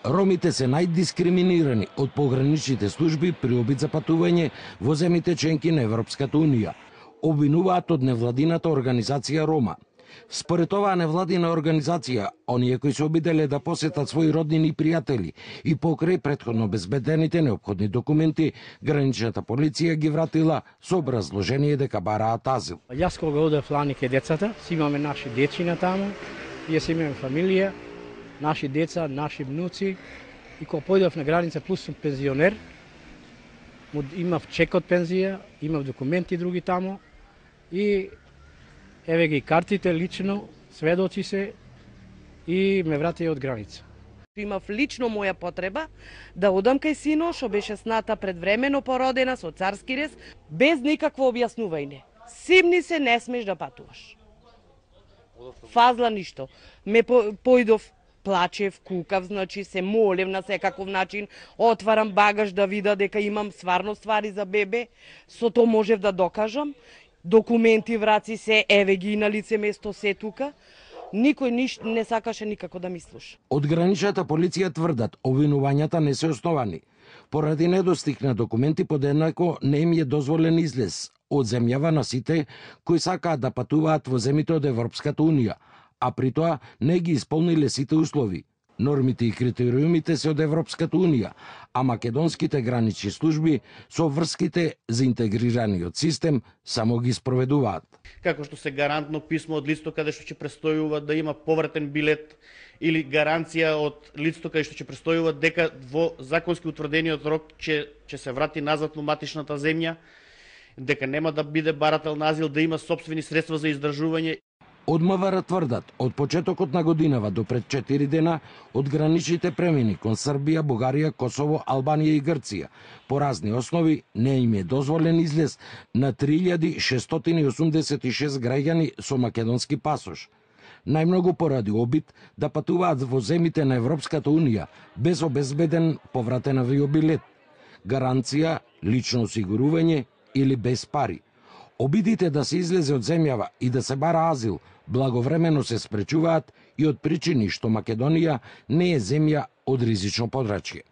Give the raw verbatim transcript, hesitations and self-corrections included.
Ромите се најдискриминирани од пограничните служби при обид за патување во земјите членки на Европската Унија, обвинуваат од невладината организација Рома. Според оваа невладина организација, оние кои се обиделе да посетат своји роднини и пријатели и покрај претходно обезбедените неопходни документи, граничната полиција ги вратила со образложение дека бараат азил. Јас кога одев лани ке децата, си имаме наши дечина таму, јас имаме фамилија, наши деца, наши внуци, и кога појдов на граница плюс сум пензионер, имав чек од пензија, имав документи други таму и еве ги картите лично, сведоци се и ме вратија од граница. Имав лично моја потреба да одам кај сино, што беше сната предвремено породена со царски рез, без никакво објаснување. Симни се, не смеш да патуваш. Фазла ништо. Ме по, појдов, плачев, кукав, значи се молев на секаков начин, отварам багаж да вида дека имам стварно ствари за бебе, со тоа можев да докажам. Документи, враци се, еве ги на лице место се тука. Никој ниш не сакаше никако да ми слуша. Од граничната полиција тврдат, обвинувањата не се основани. Поради недостиг на документи, подеднакво не им е дозволен излез од земјава на сите кои сакаат да патуваат во земјите од Европската Унија, а при тоа не ги исполниле сите услови. Нормите и критериумите се од Европската Унија, а македонските гранични служби со врските за интегрираниот систем само ги спроведуваат. Како што се гарантно писмо од лицето каде што ќе престојува да има повратен билет или гаранција од лицето каде што ќе престојува дека во законски утврдениот рок ќе ќе се врати назад во матичната земја, дека нема да биде барател на азил, да има сопствени средства за издржување. Од МВР тврдат, од почетокот на годинава до пред четири дена, од граничните премини кон Србија, Бугарија, Косово, Албанија и Грција, по разни основи не им е дозволен излез на три илјади шестстотини и осумдесет и шест граѓани со македонски пасош. Најмногу поради обид да патуваат во земјите на Европската Унија без обезбеден повратен авиобилет, гаранција, лично осигурување или без пари. Обидите да се излезе од земјава и да се бара азил благовремено се спречуваат и од причини што Македонија не е земја од ризично подрачје.